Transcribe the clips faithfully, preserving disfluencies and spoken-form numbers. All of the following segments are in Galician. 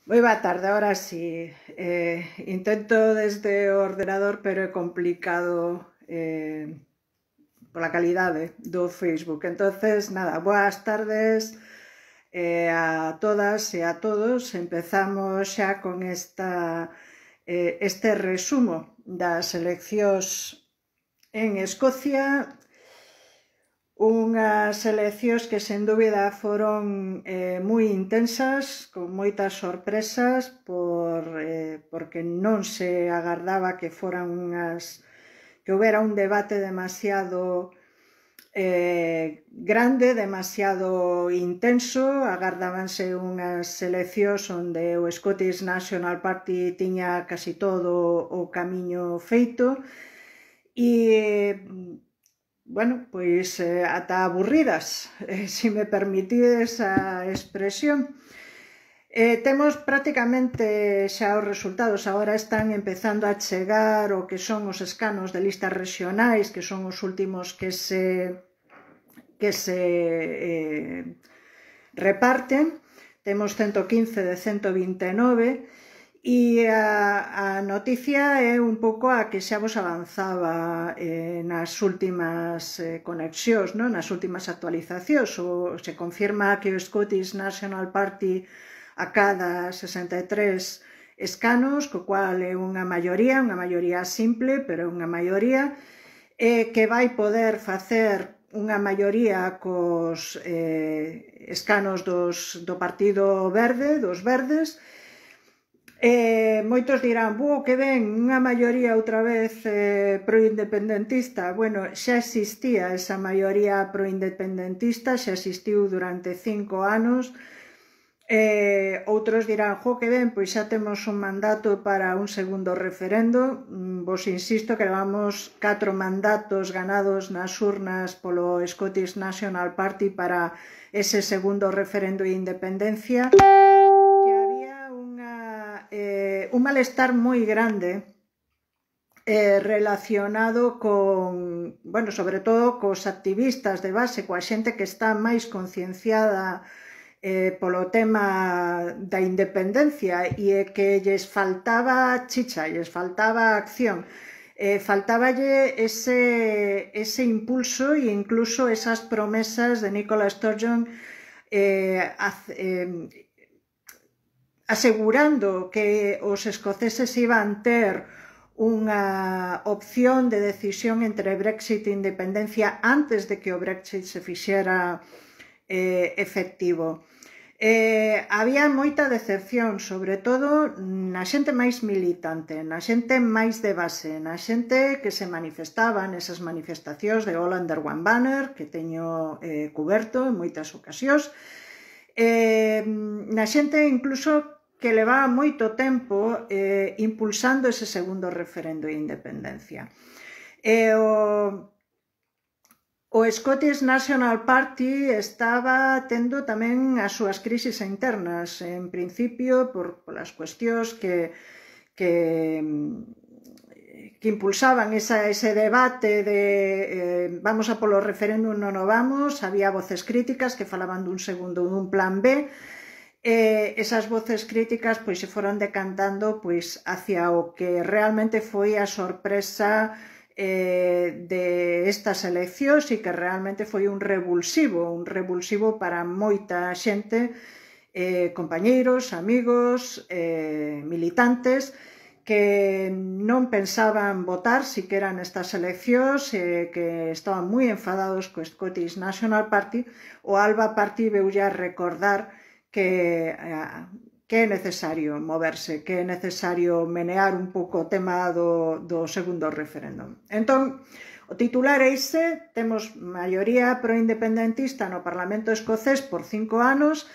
Moi boa tarde, ahora sí. Eh, intento desde o ordenador, pero é complicado eh, pola calidade do Facebook. Entonces, nada, boas tardes eh, a todas e a todos. Empezamos xa con esta, eh, este resumo das eleccións en Escocia. Unhas eleccións que sen dúbida foron eh, moi intensas, con moitas sorpresas, por, eh, porque non se agardaba que foran unhas que houbera un debate demasiado eh, grande, demasiado intenso. Agardábanse unhas eleccións onde o Scottish National Party tiña casi todo o camiño feito e bueno, pois eh, ata aburridas, eh, se me permitides a expresión. Eh, temos prácticamente xa os resultados, agora están empezando a chegar o que son os escanos de listas rexionais, que son os últimos que se, que se eh, reparten. Temos ciento quince de ciento vinte e nove. E a, a noticia é un pouco a que xa vos avanzaba eh, nas últimas eh, conexións, non? Nas últimas actualizacións. O, se confirma que o Scottish National Party acada sesenta e tres escanos, co cual é unha maioría, unha maioría simple, pero unha maioría, eh, que vai poder facer unha maioría cos eh, escanos dos, do Partido Verde, dos Verdes. Eh, moitos dirán, buo, que ben, unha maioría outra vez eh, proindependentista. Bueno, xa existía esa maioría proindependentista, xa existiu durante cinco anos. Eh, outros dirán, jo, que ben, pois xa temos un mandato para un segundo referendo. Vos insisto que levamos catro mandatos ganados nas urnas polo Scottish National Party para ese segundo referendo de independencia. Eh, un malestar moi grande eh, relacionado con, bueno, sobre todo cos activistas de base, coa xente que está máis concienciada eh, polo tema da independencia e que lles faltaba chicha, lles faltaba acción, eh, faltaballe ese, ese impulso e incluso esas promesas de Nicola Sturgeon eh, eh, asegurando que os escoceses iban ter unha opción de decisión entre Brexit e independencia antes de que o Brexit se fixera eh, efectivo. Eh, había moita decepción, sobre todo na xente máis militante, na xente máis de base, na xente que se manifestaba nesas manifestacións de All Under One Banner, que teño eh, cuberto en moitas ocasións, eh, na xente incluso que levaba moito tempo eh, impulsando ese segundo referendo de independencia. E o, o Scottish National Party estaba tendo tamén as súas crisis internas, en principio por, por as cuestións que, que, que impulsaban esa, ese debate de eh, vamos a polo referéndum, non o vamos. Había voces críticas que falaban dun segundo, dun plan B. Eh, esas voces críticas pois se foron decantando pois hacia o que realmente foi a sorpresa eh, de estas eleccións e que realmente foi un revulsivo, un revulsivo para moita xente, eh, compañeiros, amigos, eh, militantes, que non pensaban votar siquera nestas eleccións, eh, que estaban moi enfadados co Scottish National Party. O Alba Party veulle a recordar que, que é necesario moverse, que é necesario menear un pouco o tema do, do segundo referéndum. Entón, o titular é ise, temos maioría proindependentista no Parlamento escocés por cinco anos.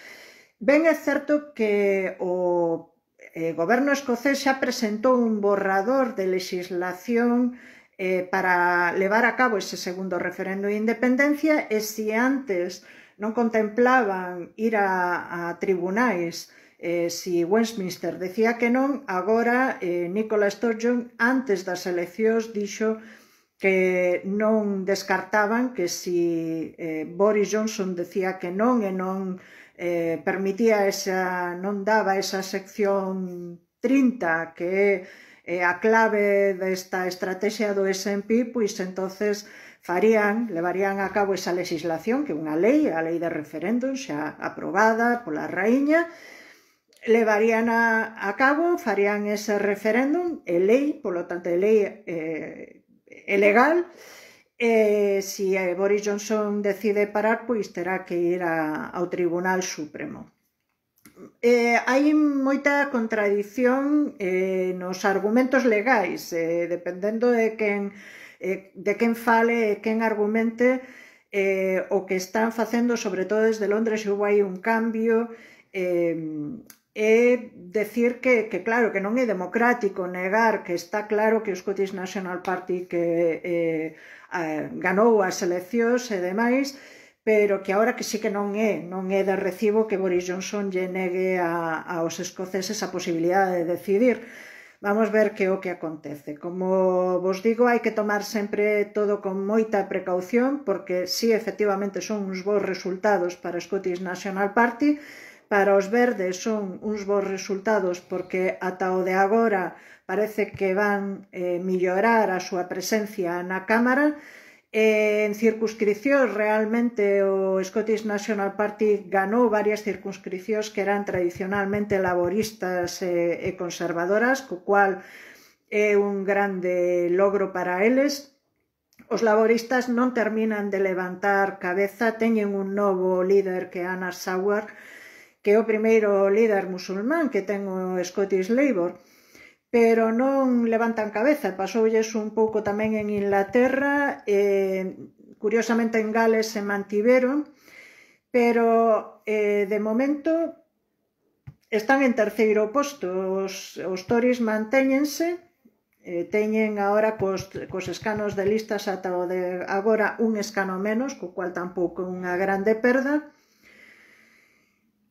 Ben é certo que o eh, goberno escocés xa presentou un borrador de legislación eh, para levar a cabo ese segundo referendo de independencia, e se antes non contemplaban ir a, a tribunais eh, si Westminster decía que non, agora eh, Nicola Sturgeon antes das eleccións dixo que non descartaban que si eh, Boris Johnson decía que non e non eh, permitía esa, non daba esa sección trinta que é a clave desta estrategia do S and P, pois entonces farían, levarían a cabo esa legislación, que é unha lei, a lei de referéndum xa aprobada pola raíña, levarían a, a cabo, farían ese referéndum, é lei, polo tanto é lei eh, é legal, e se eh, Boris Johnson decide parar, pois terá que ir a, ao Tribunal Supremo. Eh, hai moita contradición eh, nos argumentos legais, eh, dependendo de quen, eh, de quen fale e quen argumente eh, o que están facendo, sobre todo desde Londres, houve aí un cambio, eh, é decir que, que claro, que non é democrático negar que está claro que o Scottish National Party que eh, eh, ganou as eleccións e demais, pero que agora que sí que non é, non é de recibo que Boris Johnson lle negue a, aos escoceses a posibilidade de decidir. Vamos ver que é o que acontece. Como vos digo, hai que tomar sempre todo con moita precaución, porque sí, efectivamente, son uns bons resultados para o Scottish National Party. Para os verdes son uns bons resultados porque ata o de agora parece que van eh, mellorar a súa presencia na Cámara. Eh, en circunscripcións, realmente o Scottish National Party ganou varias circunscripcións que eran tradicionalmente laboristas e, e conservadoras, co cual é un grande logro para eles. Os laboristas non terminan de levantar cabeza, teñen un novo líder que é Anna Saward, que é o primeiro líder musulmán que ten o Scottish Labour, pero non levantan cabeza. Pasoulles un pouco tamén en Inglaterra, eh, curiosamente en Gales se mantiveron, pero eh, de momento están en terceiro posto. Os, os Tories mantéñense, eh, teñen agora cos, cos escanos de listas ata o de agora un escano menos, co cual tampouco é unha grande perda.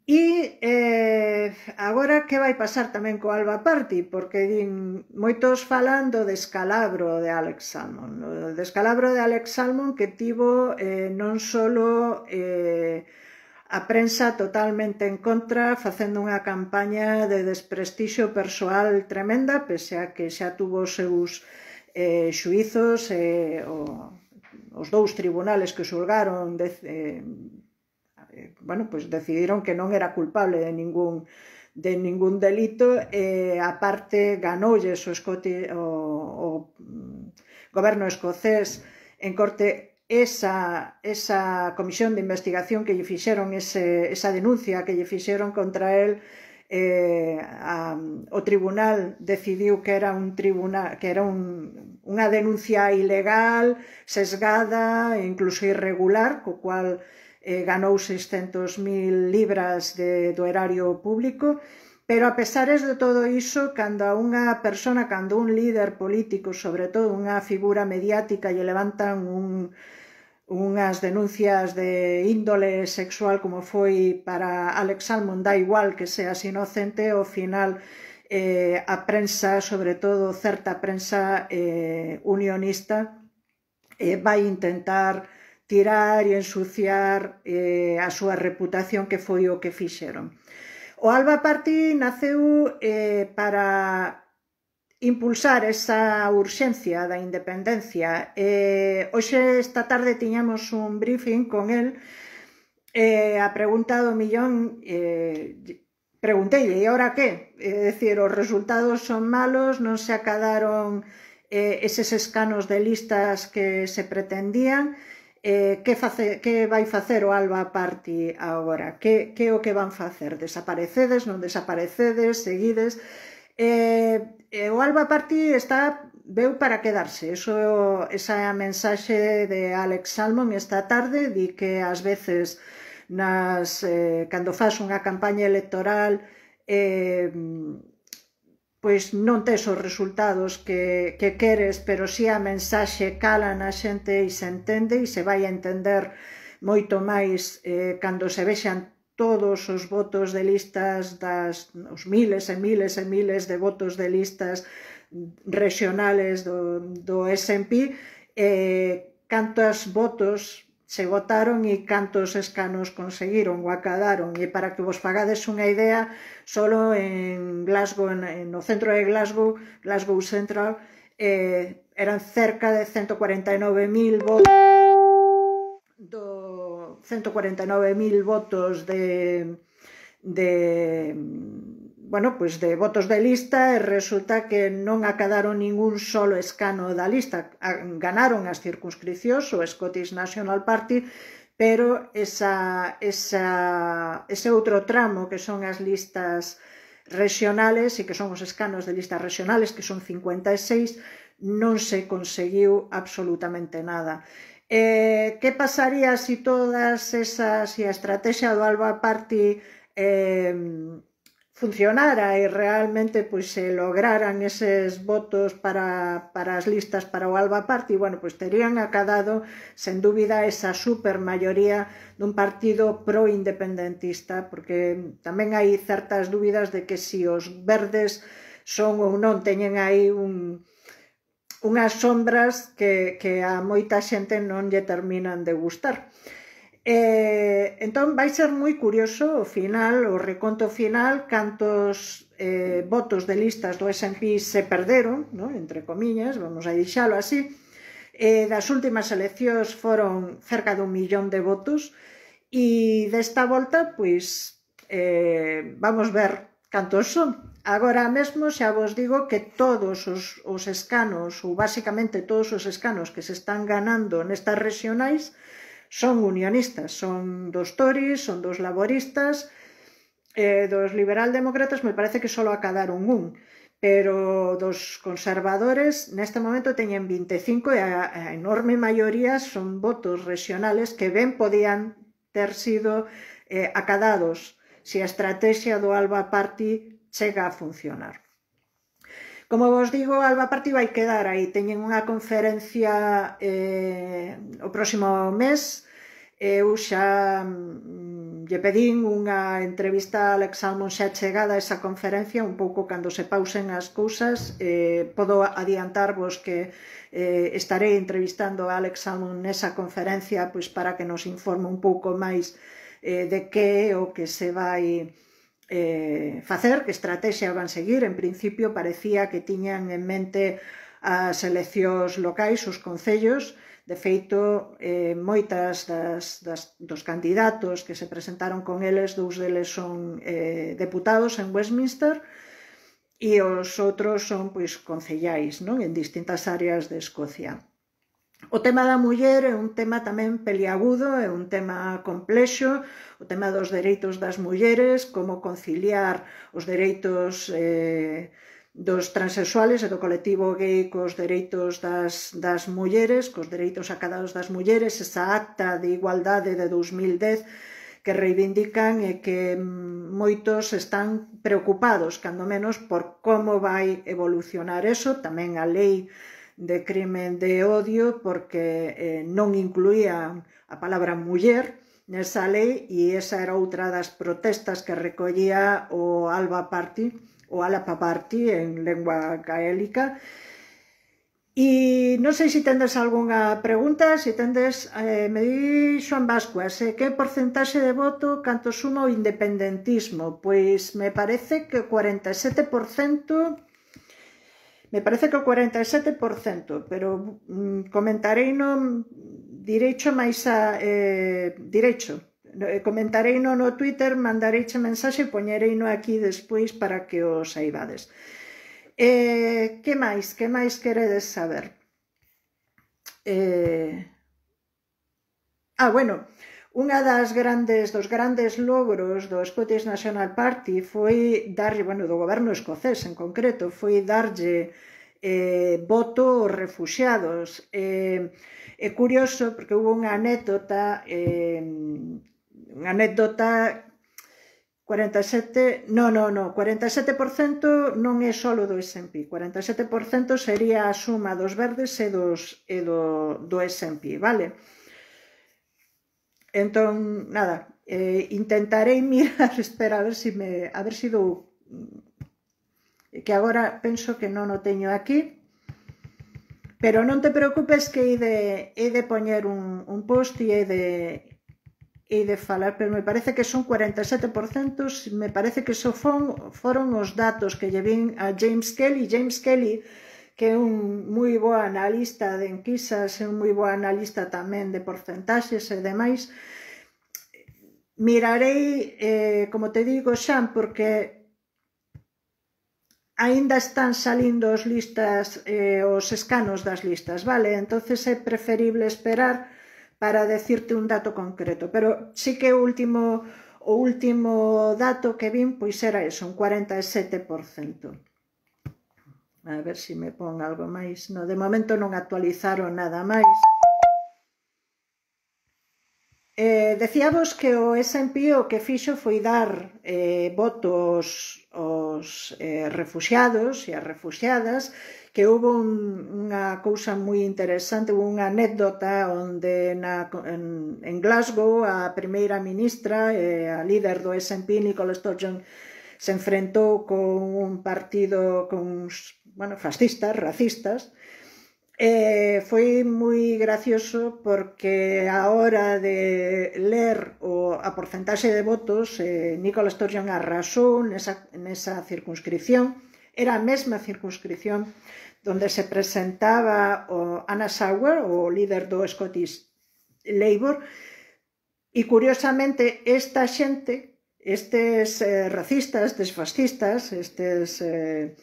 E eh, agora que vai pasar tamén co Alba Party, porque din, moitos falan do descalabro de Alex Salmond, o descalabro de Alex Salmond que tivo eh, non só eh, a prensa totalmente en contra, facendo unha campaña de desprestixio persoal tremenda, pese a que xa tuvo os seus eh, xuizos, eh, o, os dous tribunales que xulgaron de, eh, bueno, pues decidiron que non era culpable de ningún, de ningún delito, e aparte ganoulles o, Scoti, o, o goberno escocés en corte esa, esa comisión de investigación que lle fixeron, ese, esa denuncia que lle fixeron contra él. Eh, a, o tribunal decidiu que era un tribunal que era un, unha denuncia ilegal, sesgada e incluso irregular, co cual Eh, ganou seiscentos mil libras de, do erario público, pero a pesares de todo iso, cando a unha persona, cando un líder político, sobre todo unha figura mediática, lle levantan un, unhas denuncias de índole sexual como foi para Alex Salmond, dá igual que seas inocente, ao final eh, a prensa, sobre todo certa prensa eh, unionista, eh, vai intentar tirar e ensuciar eh, a súa reputación, que foi o que fixeron. O Alba Party naceu eh, para impulsar esa urxencia da independencia. Eh, hoxe, esta tarde, tiñamos un briefing con el, eh, a pregunta do millón, eh, preguntei, e agora que? É dicir, os resultados son malos, non se acadaron eh, eses escanos de listas que se pretendían. Eh, que, face, que vai facer o Alba Party agora? Que, que o que van facer? Desaparecedes, non desaparecedes, seguides? Eh, eh, o Alba Party está, veu para quedarse. Eso, esa é a mensaxe de Alex Salmond esta tarde, di que ás veces nas, eh, cando faz unha campaña electoral eh, pois non tes os resultados que, que queres, pero si a mensaxe cala na xente e se entende, e se vai a entender moito máis eh, cando se vexan todos os votos de listas, das, os miles e miles e miles de votos de listas regionales do, do S and P, eh, cantos votos se votaron e cantos escanos conseguiron ou acadaron. E para que vos fagades unha idea, solo en Glasgow, no centro de Glasgow, Glasgow Central, eh, eran cerca de ciento cuarenta e nove mil votos do ciento cuarenta e nove mil votos de de bueno, pois de votos de lista, e resulta que non acadaron ningún solo escano da lista. Ganaron as circunscricións o Scottish National Party, pero esa, esa, ese outro tramo que son as listas regionales e que son os escanos de listas regionales, que son cincuenta e seis, non se conseguiu absolutamente nada. Eh, que pasaría se todas esas, se a estrategia do Alba Party eh, funcionara e realmente pois, se lograran eses votos para, para as listas para o Alba Party? Bueno, pois terían acadado, sen dúbida, esa supermayoría dun partido pro-independentista, porque tamén hai certas dúbidas de que se os verdes son ou non, teñen aí un, unhas sombras que, que a moita xente non lle terminan de gustar. Eh, entón vai ser moi curioso o final, o reconto final, cantos eh, votos de listas do S and P se perderon, ¿no? Entre comiñas, vamos a deixalo así. Eh, das últimas eleccións foron cerca dun millón de votos e desta volta, pois, eh, vamos ver cantos son. Agora mesmo xa vos digo que todos os, os escanos, ou basicamente todos os escanos que se están ganando nestas regionais, son unionistas, son dos Tories, son dos laboristas, eh, dos liberal-demócratas me parece que só acadaron un, pero dos conservadores neste momento teñen vinte e cinco e a, a enorme maioría son votos regionales que ben podían ter sido eh, acadados se a estrategia do Alba Party chega a funcionar. Como vos digo, o Alba Party vai quedar aí. Teñen unha conferencia eh, o próximo mes. Eu xa mm, lle pedín unha entrevista a Alex Salmond xa chegada a esa conferencia, un pouco cando se pausen as cousas. Eh, podo adiantarvos que eh, estarei entrevistando a Alex Salmond nesa conferencia, pois para que nos informe un pouco máis eh, de que é o que se vai Eh, facer, que estrategia van seguir. En principio parecía que tiñan en mente as eleccións locais, os concellos. De feito, eh, moitas das, das, dos candidatos que se presentaron con eles, dous deles son eh, deputados en Westminster e os outros son pois concellais, non? En distintas áreas de Escocia. O tema da muller é un tema tamén peliagudo, é un tema complexo, o tema dos dereitos das mulleres, como conciliar os dereitos eh, dos transexuales e do colectivo gay cos dereitos das, das mulleres, cos dereitos acadados das mulleres, esa acta de igualdade de dos mil dez que reivindican e que moitos están preocupados, cando menos, por como vai evolucionar eso. Tamén a lei de crimen de odio, porque eh, non incluían a palabra muller nesa lei, e esa era outra das protestas que recollía o Alba Party, o Alba Party en lengua gaélica. E non sei se tendes algunha pregunta. Se tendes, eh, me di Xoan Bascuas, eh, que porcentaxe de voto canto suma o independentismo? Pois me parece que o cuarenta e sete por cento. Me parece que o cuarenta e sete por cento, pero mm, comentarei no direito máis a eh, direito. Comentarei no no Twitter, mandareiche mensaxe e poñerei no aquí despois para que o saibades. Eh, que máis? Que máis queredes saber? Eh... Ah, bueno, unha das grandes, dos grandes logros do Scottish National Party foi darlle, bueno, do goberno escocés en concreto, foi darlle eh, voto aos refuxiados. Eh, é curioso porque hubo unha anécdota, eh, unha anécdota cuarenta e sete, no, no, no, cuarenta e sete por cento non é solo do S and P, cuarenta e sete por cento sería a suma dos verdes e, dos, e do, do S and P, vale? Entón, nada, eh, intentarei mirar, espera, a ver se me, a ver se dou, que agora penso que non o teño aquí. Pero non te preocupes que he de, he de poñer un, un post e he de, he de falar, pero me parece que son cuarenta e sete por cento, me parece que so fon, foron os datos que lle vin a James Kelly. James Kelly, que é un moi bo analista de enquisas, é un moi bo analista tamén de porcentaxes e demais. Mirarei, eh, como te digo, Xan, porque aínda están salindo os listas, eh, os escanos das listas, vale? Entonces é preferible esperar para decirte un dato concreto, pero sí que o último, o último dato que vin pois era eso, un cuarenta e sete por cento. A ver se me pon algo máis. No, de momento non actualizaron nada máis. Eh, decíamos que o S and P o que fixo foi dar eh, votos aos eh, refuxiados e as refuxiadas, que houve un, unha cousa moi interesante, unha anécdota onde na, en, en Glasgow a primeira ministra, eh, a líder do S and P, Nicola Sturgeon, se enfrentou con un partido con uns, bueno, fascistas, racistas. Eh, foi moi gracioso porque a hora de ler o, a porcentaxe de votos, eh, Nicola Sturgeon arrasou nesa, nesa circunscripción. Era a mesma circunscripción donde se presentaba o Anna Sauer, o líder do Scottish Labour, e curiosamente esta xente, estes eh, racistas, estes fascistas, estes eh,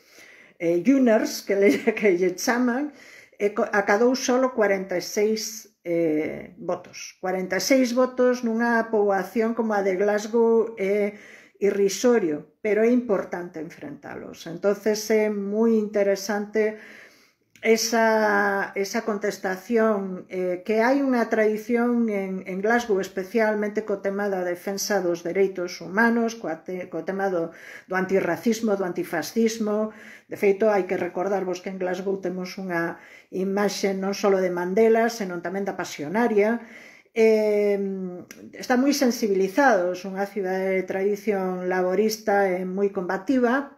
eh, Juners que lle, que lle chaman, acadou solo cuarenta e seis eh, votos. cuarenta e seis votos nunha poboación como a de Glasgow é irrisorio, pero é importante enfrentalos. Entonces é moi interesante esa, esa contestación, eh, que hai unha tradición en, en Glasgow, especialmente co tema da defensa dos dereitos humanos, co, te, co tema do, do antirracismo, do antifascismo. De feito, hai que recordarvos que en Glasgow temos unha imaxe non só de Mandela, senón tamén da Pasionaria. Eh, está moi sensibilizados, unha cidade de tradición laborista e moi combativa,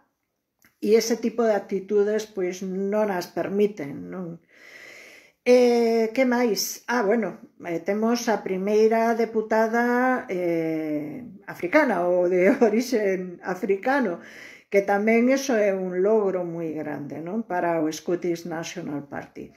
e ese tipo de actitudes pois non as permiten, non? Eh, que máis? Ah, bueno, eh, temos a primeira deputada eh, africana ou de orixe africano, que tamén iso é un logro moi grande, non? Para o Scottish National Party.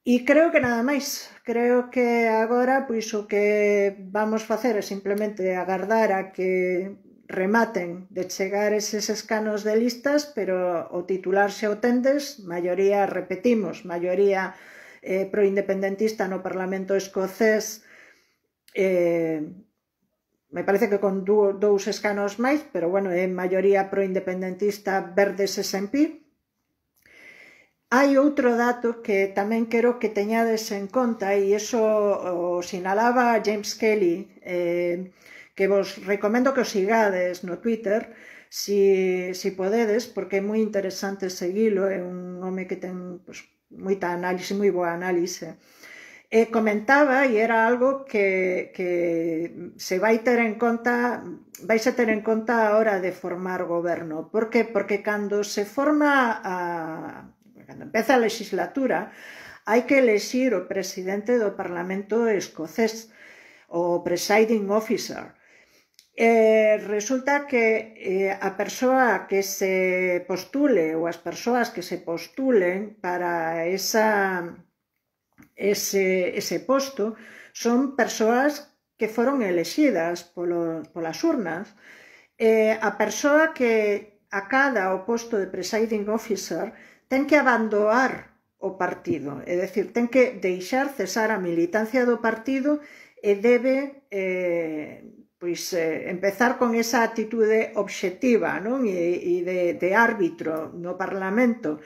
E creo que nada máis. Creo que agora pois o que vamos facer é simplemente agardar a que rematen de chegar eses escanos de listas, pero o titular xa o tendes, maioría, repetimos, maioría eh, proindependentista no Parlamento escocés, eh, me parece que con dous escanos máis, pero bueno, é maioría proindependentista verdes S and P. Hai outro dato que tamén quero que teñades en conta, e iso o sinalaba James Kelly, eh, que vos recomendo que o sigades no Twitter, si, si podedes, porque é moi interesante seguilo, é un home que ten pues, moita análise, moi boa análise. E comentaba, e era algo que, que se vai ter en conta, vais a ter en conta a hora de formar goberno. Por que? Porque cando se forma, a, cando empeza a legislatura, hai que elexir o presidente do Parlamento escocés, o presiding officer. Eh, resulta que eh, a persoa que se postule ou as persoas que se postulen para esa, ese, ese posto son persoas que foron elexidas polo, polas urnas. Eh, a persoa que acada o posto de presiding officer ten que abandonar o partido, é dicir, ten que deixar cesar a militancia do partido e debe eh, pois, eh, empezar con esa actitude obxectiva, non? E, e de, de árbitro no Parlamento.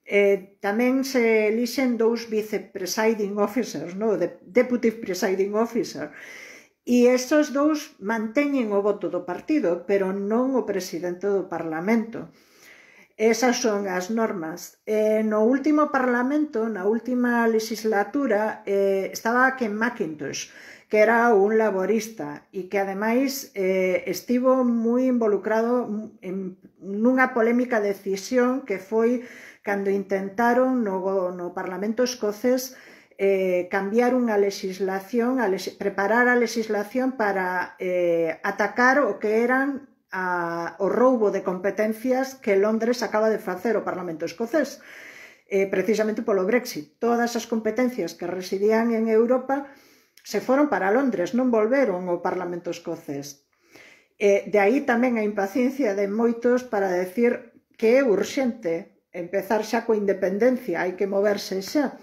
Eh, tamén se elixen dous vice-presiding officers, non? De, deputy presiding officer. E estes dous manteñen o voto do partido, pero non o presidente do Parlamento. Esas son as normas. Eh, no último Parlamento, na última legislatura, eh, estaba Ken McIntosh, que era un laborista e que ademais eh, estivo moi involucrado en nunha polémica decisión que foi cando intentaron no, no Parlamento escocés eh, cambiar unha legislación, a les, preparar a legislación para eh, atacar o que eran a, o roubo de competencias que Londres acaba de facer o Parlamento escocés, eh, precisamente polo Brexit. Todas as competencias que residían en Europa se foron para Londres, non volveron ao Parlamento escocés. Eh, de aí tamén a impaciencia de moitos para decir que é urxente empezar xa coa independencia, hai que moverse xa,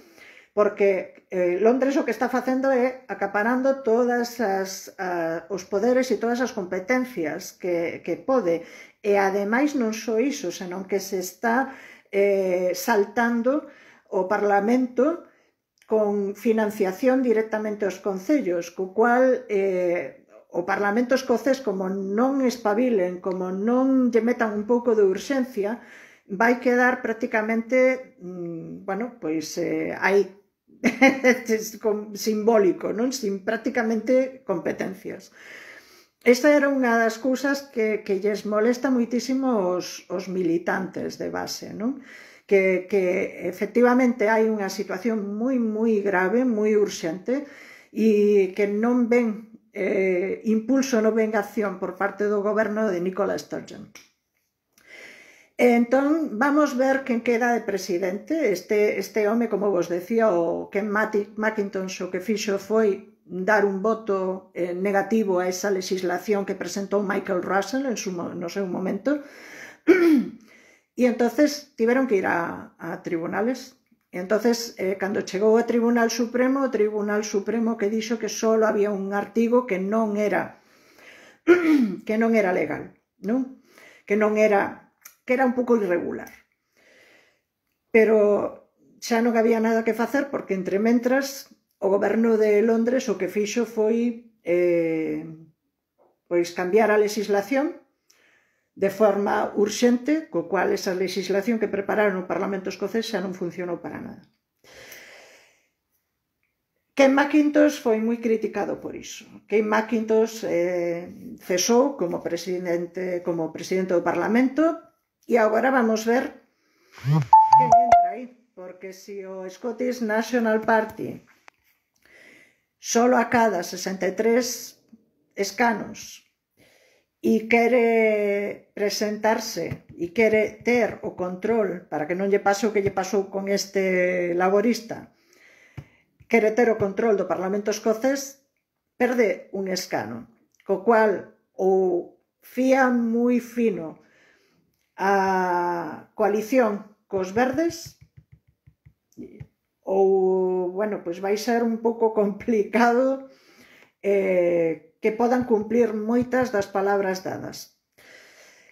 porque eh, Londres o que está facendo é acaparando todas as, uh, os poderes e todas as competencias que, que pode, e ademais non só iso, senón que se está eh, saltando o Parlamento con financiación directamente aos concellos, co cual eh, o Parlamento escocés, como non espabilen, como non lle metan un pouco de urxencia, vai quedar prácticamente, mmm, bueno, pois eh, hai simbólico, non? Sin prácticamente competencias. Esta era unha das cousas que, que lles molesta moitísimo os, os militantes de base, non? Que, que efectivamente hai unha situación moi, moi grave, moi urxente, e que non ven eh, impulso, non ven acción por parte do goberno de Nicola Sturgeon. Entón, vamos ver quen queda de presidente. Este, este home, como vos decía, o Ken Mackintosh, o que fixo foi dar un voto eh, negativo a esa legislación que presentou Michael Russell en su, no seu momento. E entonces tiveron que ir a, a tribunales. E entonces, eh, cando chegou ao Tribunal Supremo, o Tribunal Supremo que dixo que só había un artigo que non era que non era legal, non? Que non era, que era un pouco irregular. Pero xa non había nada que facer, porque entre mentras o goberno de Londres o que fixo foi eh, pois cambiar a legislación de forma urxente, co cual esa legislación que prepararon no Parlamento escocés xa non funcionou para nada. Ken Mackintosh foi moi criticado por iso. Ken Mackintosh eh, cesou como presidente, como presidente do Parlamento, e agora vamos ver quen entra aí, porque se o Scottish National Party solo acada sesenta e tres escanos e quere presentarse e quere ter o control para que non lle pase o que lle pasou con este laborista, quere ter o control do Parlamento escocés, perde un escano, co cual ou fía moi fino a coalición cos verdes ou, bueno, pois vai ser un pouco complicado eh, que podan cumplir moitas das palabras dadas.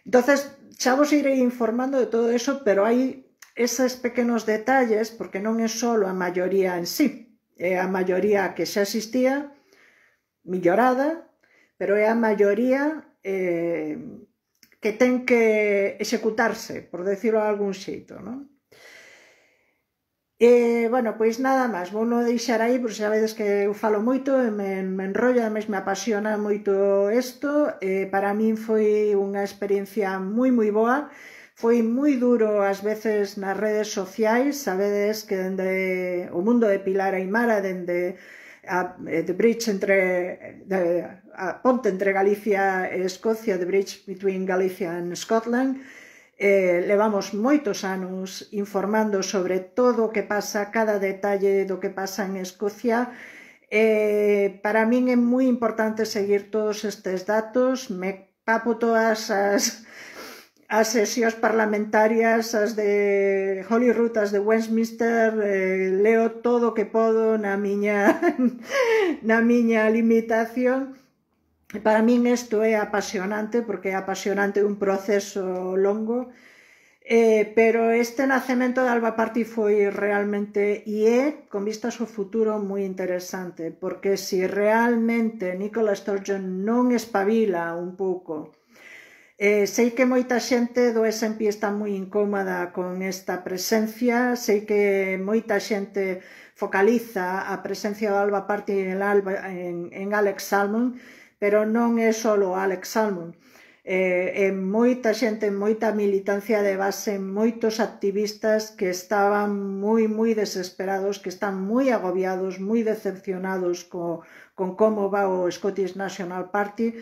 Entonces, xa vos irei informando de todo eso, pero hai eses pequenos detalles, porque non é só a maioría en sí, é a maioría que xa existía, millorada, pero é a maioría eh, que ten que executarse, por decirlo de algún xeito, non? E, bueno, pois nada máis, vou non deixar aí, porque xa vedes que eu falo moito e me, me enrollo, ademais me apasiona moito isto. E para min foi unha experiencia moi moi boa, foi moi duro ás veces nas redes sociais, sabedes que dende o mundo de Pilar Aimara, dende a, the bridge entre de, a ponte entre Galicia e Escocia, the bridge between Galicia and Scotland, Eh, levamos moitos anos informando sobre todo o que pasa, cada detalle do que pasa en Escocia. Eh, para min é moi importante seguir todos estes datos, me papo todas as, as sesións parlamentarias, as de Holyrood, as de Westminster, eh, leo todo o que podo na miña, na miña limitación. Para min isto é apasionante, porque é apasionante un proceso longo, eh, pero este nacemento de Alba Party foi realmente, e é, con vistas ao futuro, moi interesante, porque se realmente Nicola Sturgeon non espabila un pouco Eh, sei que moita xente do S and P está moi incómoda con esta presencia, sei que moita xente focaliza a presencia do Alba Party en, Alba, en, en Alex Salmond, pero non é só Alex Salmond. Eh, e moita xente, moita militancia de base, moitos activistas que estaban moi, moi desesperados, que están moi agobiados, moi decepcionados co, con como va o Scottish National Party.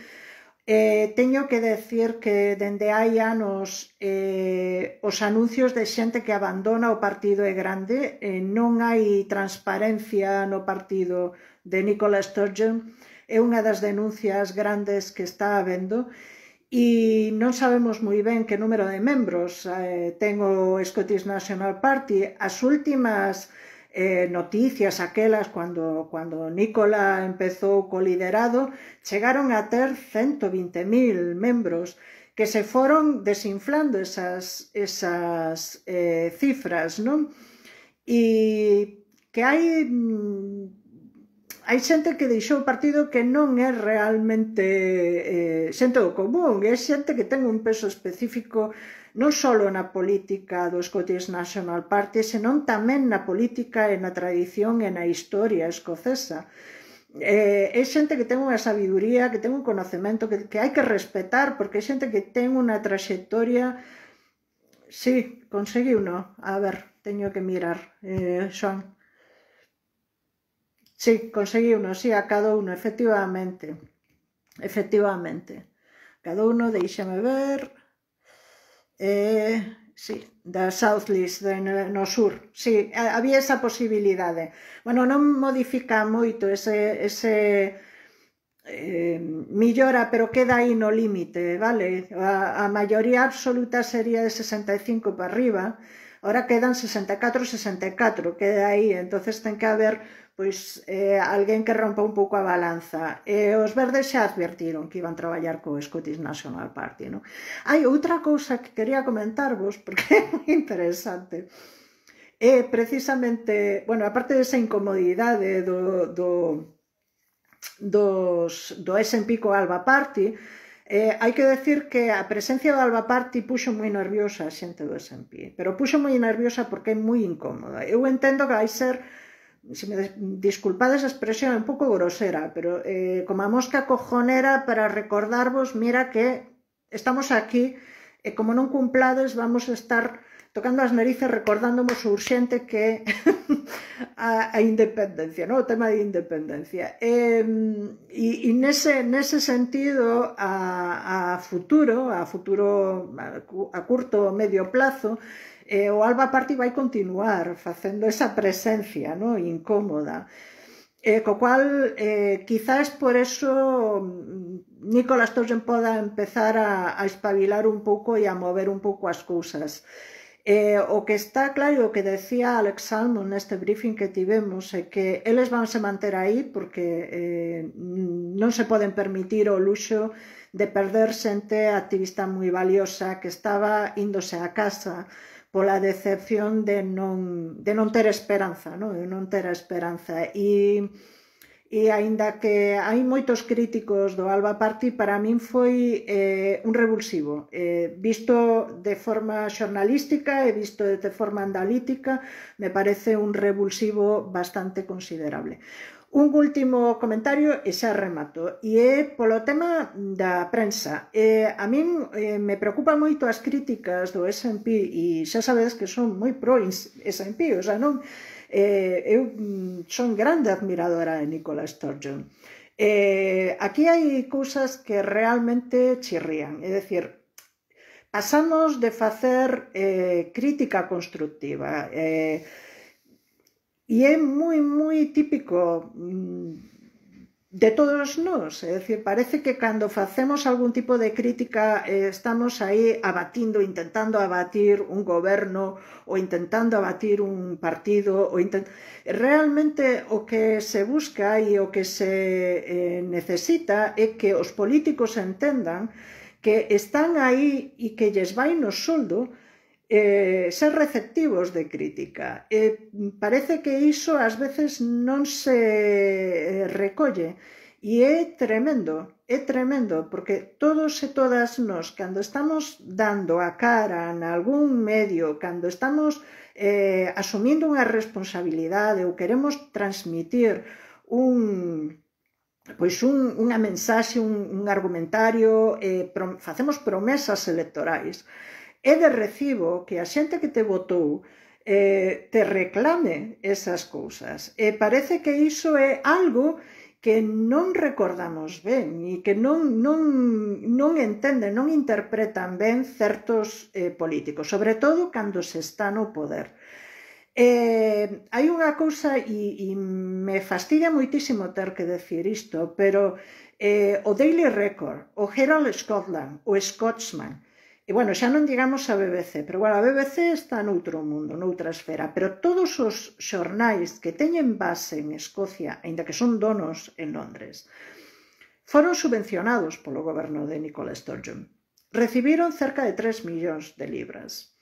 Eh, teño que decir que dende hai anos eh, os anuncios de xente que abandona o partido é grande, eh, non hai transparencia no partido de Nicola Sturgeon, é unha das denuncias grandes que está habendo, e non sabemos moi ben que número de membros eh, ten o Scottish National Party. As últimas Eh, noticias aquelas cando, cando Nicola empezou co liderado chegaron a ter ciento vinte mil membros que se foron desinflando esas, esas eh, cifras, non? E que hai hai xente que deixou o partido que non é realmente eh, xente do común, é xente que ten un peso específico non só na política do Scottish National Party, senón tamén na política e na tradición e na historia escocesa. Eh, é xente que ten unha sabiduría, que ten un conocemento que, que hai que respetar, porque é xente que ten unha traxectoria... Sí, conseguiu, non? A ver, teño que mirar, eh, Xoan. Sí, conseguiu, non? Sí, a cada uno, efectivamente. Efectivamente. Cada uno, deixame ver... Eh, sí, da South List, de, no sur, sí, había esa posibilidade. Bueno, non modifica moito ese, ese eh, millora, pero queda aí no límite, vale? A, a maioría absoluta sería de sesenta e cinco para arriba, ahora quedan sesenta e catro, sesenta e catro, queda aí, entonces ten que haber pois eh, alguén que rompa un pouco a balanza. Eh, os verdes xa advertiron que iban traballar co Scottish National Party, non? Hai outra cousa que quería comentarvos, porque é moi interesante. É precisamente, bueno, aparte desa incomodidade do, do, dos, do S and P co Alba Party, eh, hai que decir que a presencia do Alba Party puxo moi nerviosa a xente do S and P, pero puxo moi nerviosa porque é moi incómoda. Eu entendo que vai ser, se me disculpades a expresión, é un pouco grosera, pero eh, como a mosca cojonera para recordarvos, mira que estamos aquí e como non cumplades vamos a estar tocando as narices recordándonos o urxente que a, a independencia, no? O tema de independencia. E, e, e nese, nese sentido, a, a futuro, a futuro, a, a curto ou medio plazo, Eh, o Alba Party vai continuar facendo esa presencia, no? Incómoda, eh, co cual eh, quizás por eso Nicola Sturgeon poda empezar a, a espabilar un pouco e a mover un pouco as cousas. Eh, o que está claro, o que decía Alex Salmond neste briefing que tivemos, é que eles van se manter aí porque eh, non se poden permitir o luxo de perder xente activista moi valiosa que estaba índose a casa pola decepción de non, de non ter esperanza, no? De non ter a esperanza. E, e aínda que hai moitos críticos do Alba Party, para min foi eh, un revulsivo. Eh, visto de forma xornalística e visto de forma analítica, me parece un revulsivo bastante considerable. Un último comentario e xa remato, e é polo tema da prensa. Eh, a min eh, me preocupa moito as críticas do S and P, e xa sabedes que son moi pro S and P, o sea, non, eh, eu son grande admiradora de Nicola Sturgeon. Eh, aquí hai cousas que realmente chirrían, é dicir, pasamos de facer eh, crítica constructiva, eh, e é moi, moi típico de todos nós, é dicir, parece que cando facemos algún tipo de crítica eh, estamos aí abatindo, intentando abatir un goberno ou intentando abatir un partido, ou intent... realmente o que se busca e o que se eh, necesita é que os políticos entendan que están aí e que lles vai no soldo Eh, ser receptivos de crítica. Eh, parece que iso ás veces non se recolle e é tremendo, é tremendo, porque todos e todas nós, cando estamos dando a cara en algún medio, cando estamos eh, asumindo unha responsabilidade ou queremos transmitir un, pois un, unha mensaxe, un, un argumentario, eh, pro, facemos promesas electorais, é de recibo que a xente que te votou eh, te reclame esas cousas. E parece que iso é algo que non recordamos ben e que non, non, non entenden, non interpretan ben certos eh, políticos, sobre todo cando se está no poder. Eh, hai unha cousa, e, e me fastidia moitísimo ter que decir isto, pero eh, o Daily Record, o Herald Scotland, o Scotsman, e bueno, xa non digamos a B B C, pero bueno, a B B C está noutro mundo, noutra esfera, pero todos os xornais que teñen base en Escocia, aínda que son donos en Londres, foron subvencionados polo goberno de Nicola Sturgeon. Recibiron cerca de tres millóns de libras.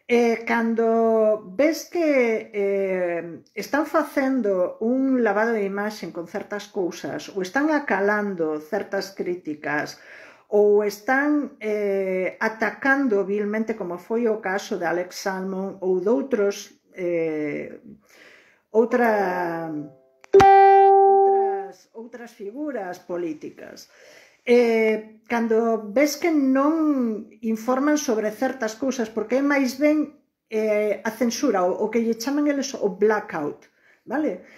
Eh, cando ves que eh, están facendo un lavado de imaxen con certas cousas, ou están acalando certas críticas, ou están eh, atacando vilmente, como foi o caso de Alex Salmond ou de outros eh, outra, outras, outras figuras políticas. Eh, cando ves que non informan sobre certas cousas, porque é máis ben eh, a censura, o, o que lle chaman eles o blackout, vale?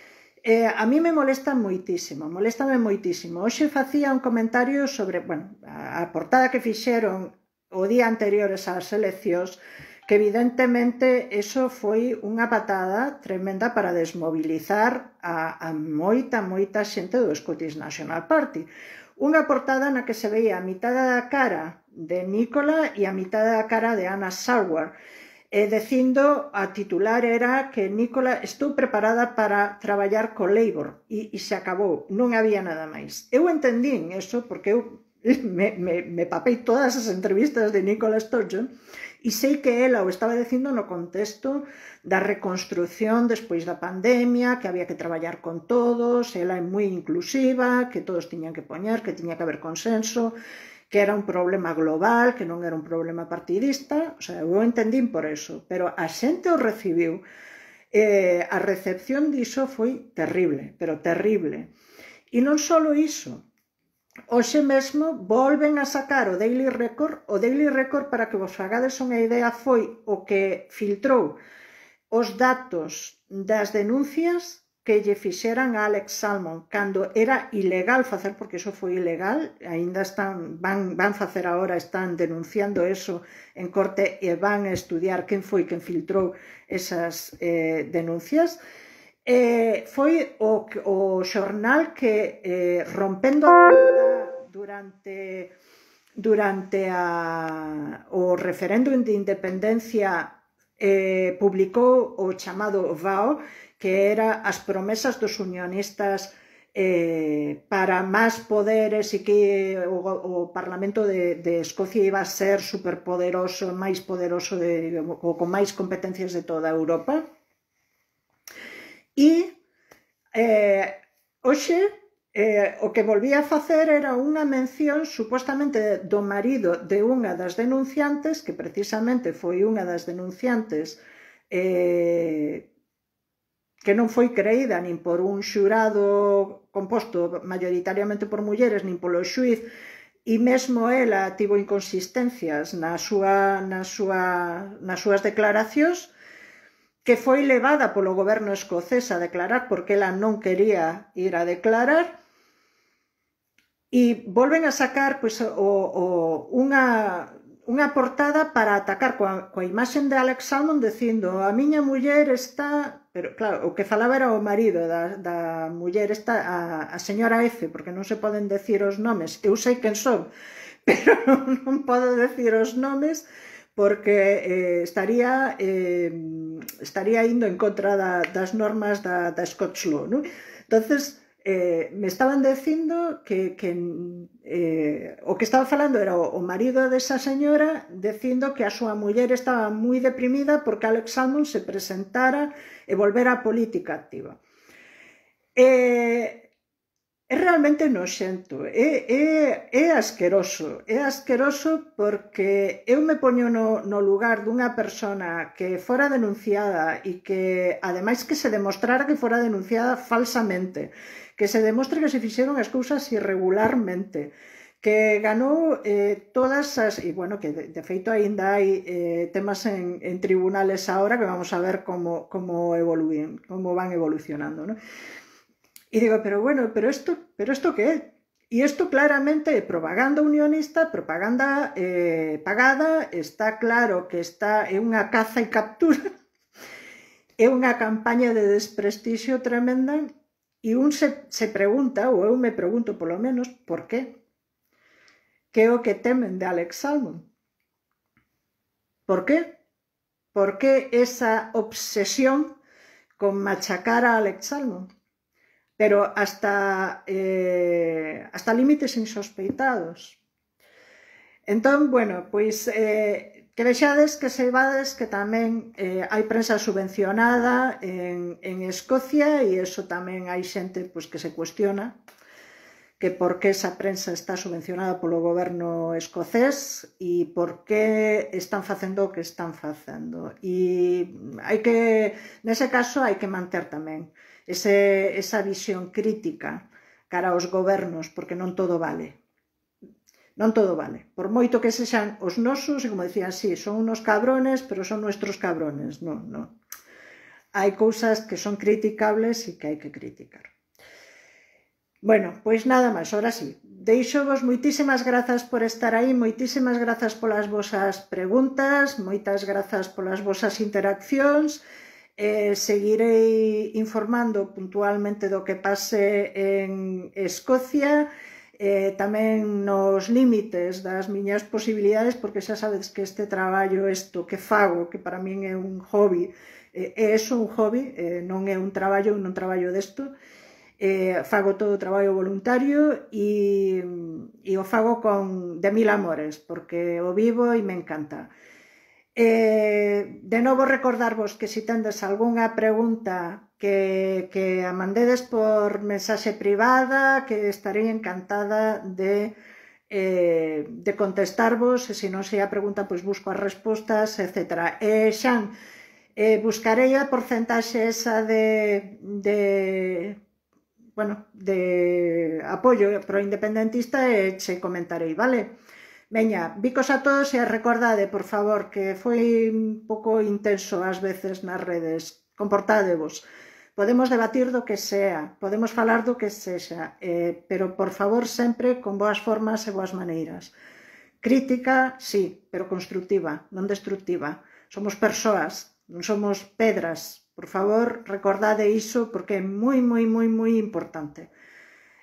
Eh, a mí me molesta moitísimo, moléstame moitísimo. Hoxe facía un comentario sobre, bueno, a, a portada que fixeron o día anteriores ás eleccións, que evidentemente eso foi unha patada tremenda para desmobilizar a, a moita, moita xente do Scottish National Party. Unha portada na que se veía a mitad da cara de Nicola e a mitad da cara de Anna Saward, e dicindo, a titular era que Nicola estou preparada para traballar co Labour, e, e se acabou, non había nada máis. Eu entendín eso porque eu me, me, me papei todas as entrevistas de Nicola Sturgeon e sei que ela o estaba dicindo no contexto da reconstrucción despois da pandemia, que había que traballar con todos, ela é moi inclusiva, que todos tiñan que poñer, que tiña que haber consenso, que era un problema global, que non era un problema partidista, o sea, eu entendín por eso, pero a xente o recibiu. Eh, a recepción diso foi terrible, pero terrible. E non só iso, hoxe mesmo volven a sacar o Daily Record. O Daily Record, para que vos fagades unha idea, foi o que filtrou os datos das denuncias que lle fixeran a Alex Salmond cando era ilegal facer, porque iso foi ilegal, aínda están, van, van facer agora, están denunciando eso en corte e van a estudiar quen foi quen filtrou esas eh, denuncias. Eh, foi o, o xornal que eh, rompendo a durante durante a, o referéndum de independencia eh, publicou o chamado V A O, que era as promesas dos unionistas eh, para máis poderes e que o, o Parlamento de, de Escocia iba a ser superpoderoso, máis poderoso, de, o, con máis competencias de toda Europa. E eh, hoxe eh, o que volvía a facer era unha mención supostamente do marido de unha das denunciantes, que precisamente foi unha das denunciantes eh, que non foi creída nin por un xurado composto maioritariamente por mulleres, nin polo xuiz, e mesmo ela tivo inconsistencias na súa, na súa, nas súas declaracións, que foi levada polo goberno escocés a declarar porque ela non quería ir a declarar, e volven a sacar pois, o, o, unha... unha portada para atacar coa, coa imaxen de Alex Salmond dicindo a miña muller está... Pero claro, o que falaba era o marido da, da muller esta, a, a señora F, porque non se poden decir os nomes. Eu sei quen son, pero non, non podo decir os nomes porque eh, estaría eh, estaría indo en contra da, das normas da, da Scottish Law, non? Entonces, Eh, me estaban dicindo que, que eh, o que estaba falando era o, o marido desa señora dicindo que a súa muller estaba moi deprimida porque Alex Salmond se presentara e volvera á política activa. Eh, é realmente noxento, é, é, é asqueroso, é asqueroso porque eu me poño no, no lugar dunha persona que fora denunciada e que, ademais, que se demostrara que fora denunciada falsamente, que se demostre que se fixeron as cousas irregularmente, que ganou eh, todas as... E, bueno, que de, de feito aínda hai eh, temas en, en tribunales ahora que vamos a ver como, como, evoluen, como van evolucionando, ¿no? E digo, pero bueno, pero isto, pero isto que é? E isto claramente é propaganda unionista, propaganda eh, pagada, está claro que está é unha caza e captura, é unha campaña de desprestixio tremenda, e un se, se pregunta, ou eu me pregunto polo menos, por qué? Que é o que temen de Alex Salmond? Por qué? Por que esa obsesión con machacar a Alex Salmond? Pero hasta, eh, hasta límites insospeitados. Entón, bueno, pois eh, que vexades, que seivades que tamén eh, hai prensa subvencionada en, en Escocia, e iso tamén hai xente pois, que se cuestiona que por que esa prensa está subvencionada polo goberno escocés e por que están facendo o que están facendo. E hai que, nese caso, hai que manter tamén ese, esa visión crítica cara aos gobernos, porque non todo vale. Non todo vale. Por moito que sexan os nosos, e como decían, sí, son unos cabrones, pero son nuestros cabrones. Non, non. Hai cousas que son criticables e que hai que criticar. Bueno, pois nada máis, ahora sí. Deixo-vos moitísimas grazas por estar aí, moitísimas grazas polas vosas preguntas, moitas grazas polas vosas interaccións. Eh, seguirei informando puntualmente do que pase en Escocia, eh, tamén nos límites das miñas posibilidades, porque xa sabedes que este traballo, isto que fago, que para min é un hobby, eh, é eso un hobby, eh, non é un traballo, non traballo desto, eh, fago todo o traballo voluntario e, e o fago con de mil amores, porque o vivo e me encanta. Eh, de novo recordarvos que se tendes algunha pregunta que, que a mandedes por mensaxe privada, que estarei encantada de, eh, de contestarvos, e se non sei a pregunta, pois busco as respostas, etcétera. E Xan, eh, buscarei a porcentaxe esa de, de, bueno, de apoio pro independentista e che comentarei, vale? Veña, bicos a todos e recordade, por favor, que foi un pouco intenso ás veces nas redes. Comportádevos. Podemos debatir do que sea, podemos falar do que sexa, eh, pero, por favor, sempre con boas formas e boas maneiras. Crítica, sí, pero constructiva, non destructiva. Somos persoas, non somos pedras. Por favor, recordade iso, porque é moi, moi, moi, moi importante.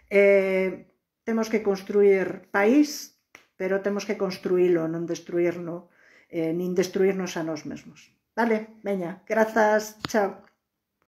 Eh, temos que construir país, pero temos que construílo, non destruírno, eh, nin destruírnos a nós mesmos. Vale, veña, grazas, chao.